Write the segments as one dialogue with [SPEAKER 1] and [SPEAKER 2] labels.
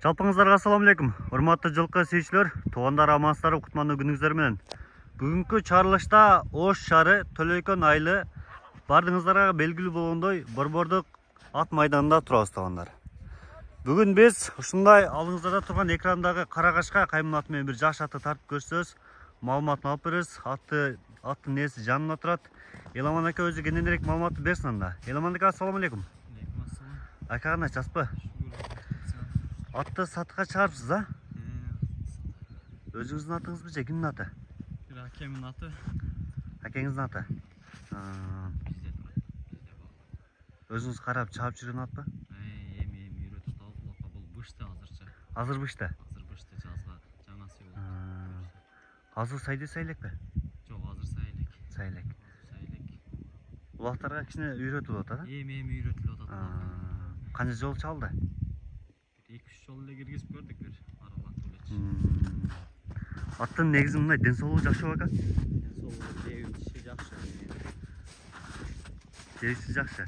[SPEAKER 1] Жалпыңыздарга ассаламу алейкум. Урматтуу жылкы сүйүүчүлөр, туугандар амансыздарбы, кутмандуу күнүңүздөр менен. Бүгүнкү чарылышта Ош шаары Төлөйкөн айылы бардыгыңыздарга белгилүү болгондой Борбордук ат майданында турабыз туугандар. Бүгүн биз ушундай алыңыздарда турган экрандагы карагашка кайман аты менен бир жаш атты тартып көрсөз, маалыматын алып беребиз. Аттын ээси жанында турат. Эламан ака өзү кененирээк маалыматты берсин анда. Эламан ака, ассаламу алейкум. Ака кандай, жаспы? Атты сатыкка чыгарыпсыз, а? Өзүңүздүн атыңызбы же кимдин аты?
[SPEAKER 2] Бир акемдин аты.
[SPEAKER 1] Акеңиздин аты? Өзүңүз карап чаап жүргөн атпы?
[SPEAKER 2] Эми үйрөтүп алып, бул бышты азырча.
[SPEAKER 1] Азыр бышты?
[SPEAKER 2] Азыр бышты, жазга жаңа сыйылды.
[SPEAKER 1] Азыр сайды сайлекпи?
[SPEAKER 2] Жок, азыр сайылек.
[SPEAKER 1] Сайылек.
[SPEAKER 2] Сайылек.
[SPEAKER 1] Улактарга кичине үйрөтүлүп атат, а?
[SPEAKER 2] Эми үйрөтүлүп атат.
[SPEAKER 1] Канча жол чалды?
[SPEAKER 2] 2-3 жол эле киргизип көрдүк, бир аралатып элечи.
[SPEAKER 1] Аттын негизи мындай, ден соолугу жакшы ака?
[SPEAKER 2] Ден соолугу жебиши жакшы.
[SPEAKER 1] Жебиши жакшы.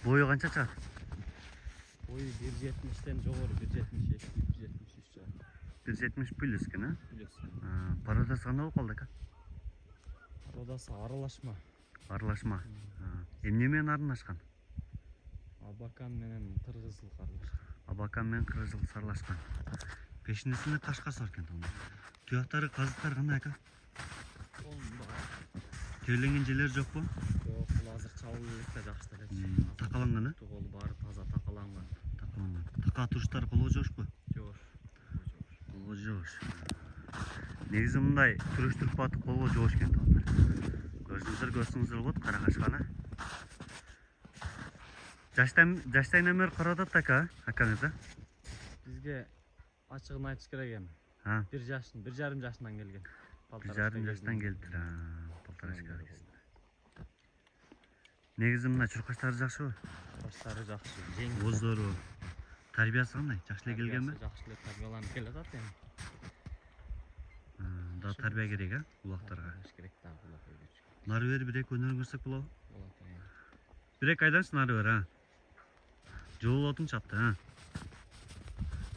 [SPEAKER 1] Бою канча чыгат?
[SPEAKER 2] Бою 1.70-тен жогору, 1.72, 1.73 чыгат.
[SPEAKER 1] 1.70 плюс экен, а?
[SPEAKER 2] Плюс.
[SPEAKER 1] Породасы кандай болуп калды ака?
[SPEAKER 2] Породасы аралашма.
[SPEAKER 1] Аралашма. Эмне менен аралашкан?
[SPEAKER 2] Абакан менен кыргызыл аралашкан.
[SPEAKER 1] Абакан менен кыргызыл аралашкан. Пешинесинде кашкасы бар экен туугандар. Туяктары, казыктары кандай ака? Терленген жерлери жокпу?
[SPEAKER 2] Жок, бул азыр чабылып элек жакшы эле.
[SPEAKER 1] Такаланган, а?
[SPEAKER 2] Тугол баары таза такаланган.
[SPEAKER 1] Такаланган. Така туруштары колго жошпу?
[SPEAKER 2] Жош.
[SPEAKER 1] Колго жош. Негизи мындай туруштуруп атып колго жоош экен туугандар. Көрсөңүздөр болот карагашканы. Жаштайынан бери каратат ака, акаңыз, а?
[SPEAKER 2] Бизге ачыгын айтыш керек эми. 1,5 жашынан келген.
[SPEAKER 1] 1,5 жаштан келиптир, полторашка кезинде. Негизи мына чуркачтары жакшыбы?
[SPEAKER 2] Чуркачтары жакшы, жеңил.
[SPEAKER 1] Оздору, тарбиясы кандай? Жакшы эле келгенби?
[SPEAKER 2] Жакшы эле тарбияланып келатат эми.
[SPEAKER 1] Да тарбия керек, а? Улактарга.
[SPEAKER 2] Керек да, улак өйдөчү.
[SPEAKER 1] Нары бери бир-эки өнөрүн көрсөк болобу?
[SPEAKER 2] Болот.
[SPEAKER 1] Бир-эки айданчы нары бери, а? Жолу отуң чапты, а?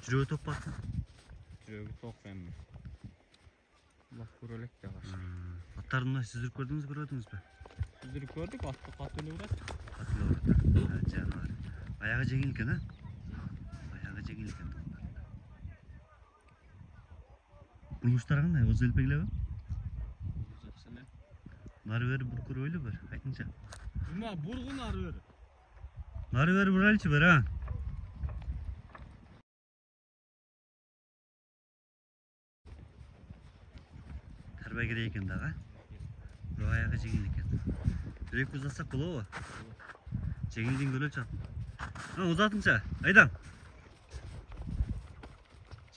[SPEAKER 1] Жүрөгү топ баттı.
[SPEAKER 2] Жүрөгү топ эми. Улак көрөлек да баш.
[SPEAKER 1] Аттарды мына сүзүрүп көрдүңүзбү, көрбөдүңүзбү?
[SPEAKER 2] Сүзүрүп көрдүк, атты катуу эле урат.
[SPEAKER 1] Катуу урат. Жаныбар. Аягы жеңил экен, а? Аягы жеңил экен. Муштар кандай? Оз элпегилеби?
[SPEAKER 2] Жакшы эле.
[SPEAKER 1] Нары бери буркуройлу бир, айтыңчы.
[SPEAKER 2] Жума бургу нары бери.
[SPEAKER 1] Нары бери бурайлычы бир, а? Тарбия керек экен дагы, а? Бирок аягы жеңил экен. Бир-эки узатсак болобу? Жеңилдигин көрөлүчү атын. Узатыңчы, айдам.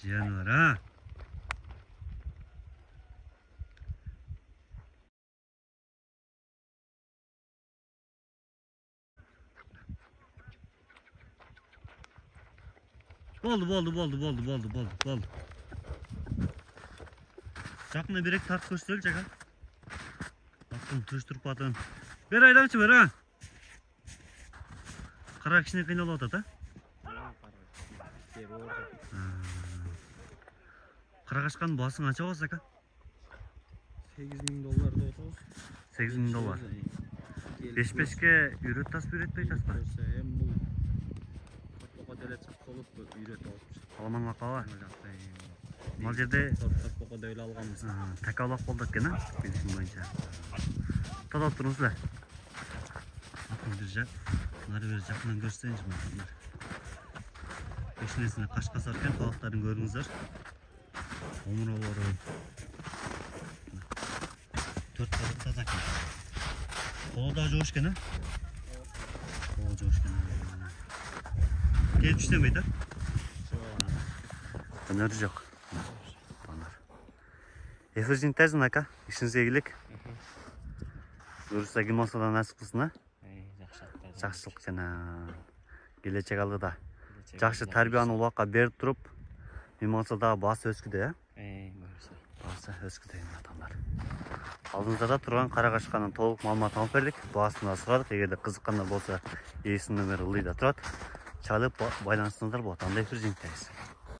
[SPEAKER 1] Жаныбар, а? Болду. Жакында бирек тартып көрсөтөлүчү ака. Аттын туруштуруп атын. Бер айдамчы бер, а? Кара кичине кыйналып атат, а? Карагашканын баасың канча болот ака?
[SPEAKER 2] $8.000 деп атабыз.
[SPEAKER 1] $8.000. 5-5ке үйрөтасызбы, үйрөтпөй атасызбы?
[SPEAKER 2] Эми бул топко деле чыкса болот, үйрөтүп алып.
[SPEAKER 1] Аламан макаба. Мал жерде
[SPEAKER 2] топко деле алганбыз.
[SPEAKER 1] Така улак болду экен, а? Билишим боюнча. Тазалап туруңуздар. Атын бир жак, нары бери жакынан көрсөңүз мына. Пешинесине кашкасы бар экен, кабактарын көрүңүздөр. Омуролору 4 кабак таза экен. Колу да жоош экен, а? Колу жоош экен. Келип иштебейт, а? Өнөрү жок. Эфирдин тезин ака, ишиңизге ийгилик. Буюрса кимасадан насип кылсын, а? Жакшылык жана келечек алдыда. Жакшы тарбияны улакка берип туруп, мималса дагы баасы өскүдө, а? Баасы өскүдө атандар. Алдыңыздарда турган карагашканын толук маалыматын алып бердик. Баасын да сурадык. Эгерде кызыккандар болсо, ээсинин номери ылдыйда турат. чалып байланыстыңыздар болот. Андай бир жеңтебиз.